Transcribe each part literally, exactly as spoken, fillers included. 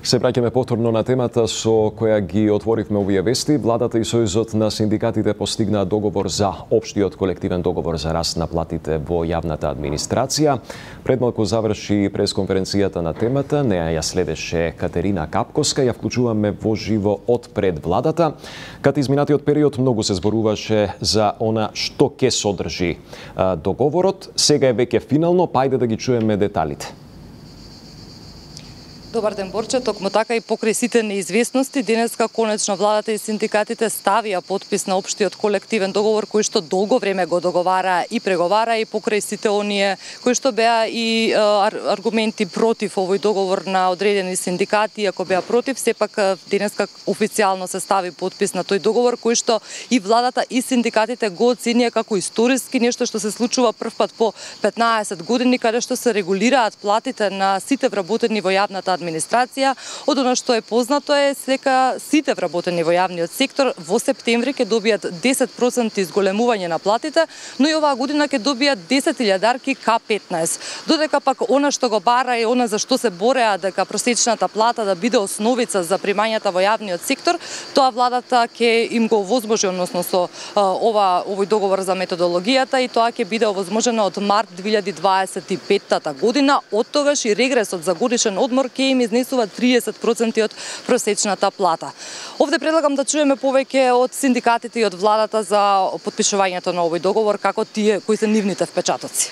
Се враќаме повторно на темата со која ги отворивме овие вести. Владата и Сојузот на синдикатите постигнаа договор за општиот колективен договор за раст на платите во јавната администрација. Пред малку заврши пресконференцијата на темата, неа ја следеше Катерина Капковска, ја вклучуваме во живо од пред владата. Кај изминатиот период многу се зборуваше за она што ќе содржи договорот. Сега е веќе финално, па ајде да ги чуеме деталите. Добар ден, Борче. Токму така и покрај сите неизвестности, денеска конечно владата и синдикатите ставија подпис на општиот колективен договор кој што долго време го договара и преговара, и покрај сите оние кои што беа и ар, аргументи против овој договор на одредени синдикати, ако беа против, сепак денеска официјално се стави подпис на тој договор кој што и владата и синдикатите го оценија како историски, нешто што се случува прв пат по петнаесет години, каде што се регулираат платите на сите вработени во јавната администрација. Од она што е познато е дека сите вработени во јавниот сектор во септември ќе добијат десет проценти изголемување на платите, но и оваа година ќе добијат десет илјадарки ка петнаесет. Додека пак она што го бара и она за што се бореа дека просечната плата да биде основица за примањата во јавниот сектор, тоа владата ќе им го овозможи, односно со ова овој договор за методологијата, и тоа ќе биде овозможено од март две илјади дваесет и петта година. Од тогаш и регресот за годишен одмор ќе им изнесува триесет проценти од просечната плата. Овде предлагам да чуеме повеќе од синдикатите и од владата за потпишувањето на овој договор, како тие кои се нивните впечатоци.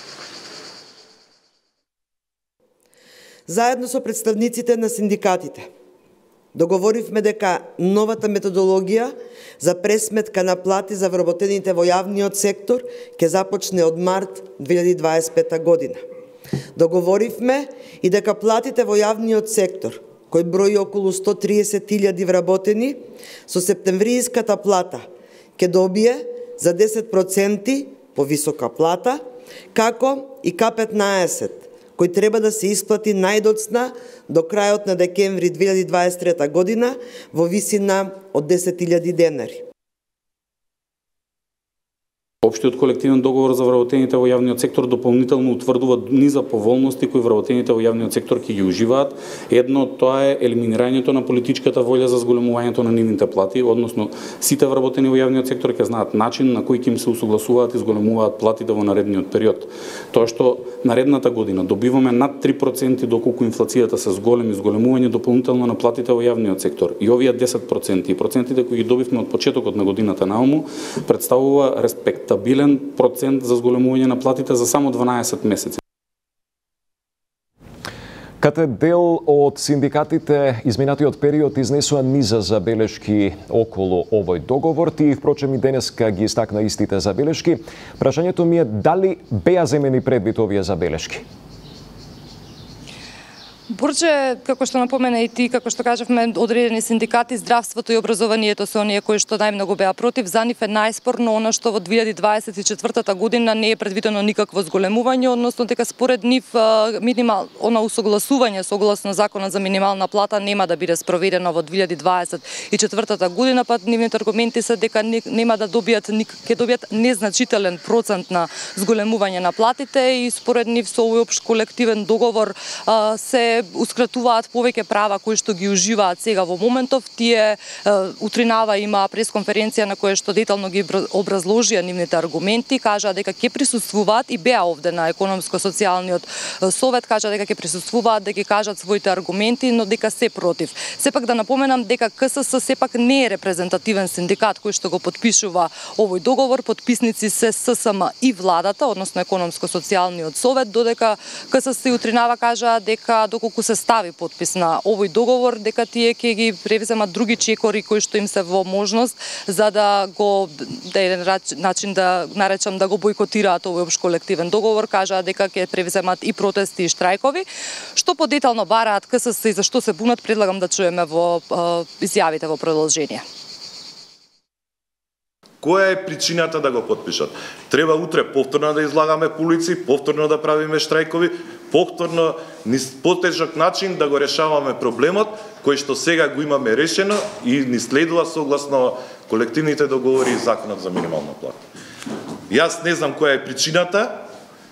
Заедно со представниците на синдикатите договоривме дека новата методологија за пресметка на плати за вработените во јавниот сектор ќе започне од март две илјади дваесет и петта година. Договоривме и дека платите во јавниот сектор, кој брои околу сто триесет илјади вработени, со септемвријската плата ќе добие за десет проценти повисока плата, како и ка петнаесет, кој треба да се исплати најдоцна до крајот на декември две илјади дваесет и трета година во висина од десет илјади денари. Општиот колективен договор за вработените во јавниот сектор дополнително утврдува низа поволности кои вработените во јавниот сектор ќе ги уживаат. Едно од тоа е елиминирањето на политичката волја за зголемувањето на нивните плати, односно сите вработени во јавниот сектор ќе знаат начин на кој ќе им се усогласуваат и зголемуваат платите во наредниот период. Тоа што наредната година добиваме над три проценти доколку инфлацијата се зголеми, зголемување дополнително на платите во јавниот сектор, и овие десет проценти и процентите кои ги добивме од почетокот на годината наому представува респект стабилен процент за зголемување на платите за само дванаесет месеци. Кате дел од синдикатите изминатиот период изнесува низа забелешки околу овој договор. Тие впрочем и денеска ги истакна истите забелешки. Прашањето ми е дали беа земени предвид овие забелешки? Борче, како што напомена и ти, како што кажавме, одредени синдикати, здравството и образованието се оние кои што најмногу беа против. За нив е најспорно она што во две илјади дваесет и четвртата година не е предвидено никакво зголемување, односно дека според нив минимал она усогласување согласно законот за минимална плата нема да биде спроведено во две илјади дваесет и четвртата година, па нивните аргументи се дека нема да добијат ќе добијат незначителен процент на зголемување на платите, и според нив со овој општ колективен договор се ускратуваат повеќе права кои што ги уживаат сега во моментов. Тие утринава има пресконференција на која што детално ги образложија нивните аргументи, кажаа дека ќе присуствуваат и беа овде на економско-социјалниот совет, кажаа дека ќе присуствуваат да ги кажат своите аргументи, но дека се против. Сепак да напоменам дека ка ес ес сепак не е репрезентативен синдикат кој што го потпишува овој договор. Потписници се ес ес ем и владата, односно економско-социјалниот совет, додека ка ес ес утринава кажаа дека доколку се стави подпис на овој договор, дека тие ќе ги превземат други чекори кои што им се во можност за да го да еден начин да наречам да го бойкотираат овој општ колективен договор. Кажаа дека ќе превземат и протести и штрајкови. Што подетално бараат ка ес ес и зашто се бунат, предлагам да чуеме во изјавите во продолжение. Која е причината да го потпишат? Треба утре повторно да излагаме по улици, повторно да правиме штрајкови, повторно низ потежок начин да го решаваме проблемот кој што сега го имаме решено и ни следува согласно колективните договори и законот за минимална плата. Јас не знам која е причината,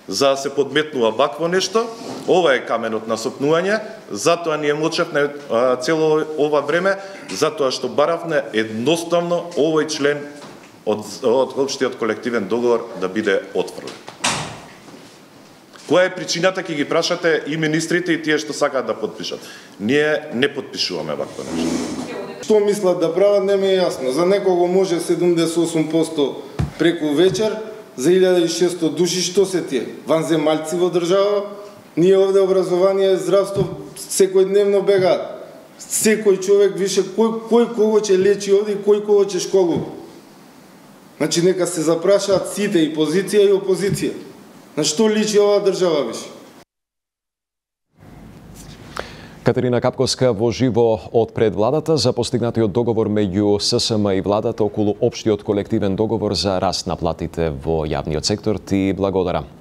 за да се подметнува вакво нешто. Ова е каменот на сопнување, затоа ние молчевме цело ова време, затоа што баравме едноставно овој член од, од општиот колективен договор да биде отфрлен. Која е причината, ќе ги прашате и министрите и тие што сакаат да подпишат. Ние не подпишуваме вакво нешто. Што мислат да прават, не ми е јасно. За некого може седумдесет и осум проценти преку вечер, за илјада и шесто души што се тие? Ванземалци во држава? Ние овде образование, здравство секојдневно бегаат. Секој човек више кој кој кого ќе лечи овде и кој кого ќе школува. Значи нека се запрашаат сите, и позиција и опозиција. На што личи оваа држава више? Катерина Капковска во живо од пред владата за постигнатиот договор меѓу ССМ и владата околу општиот колективен договор за раст на платите во јавниот сектор. Ти благодарам.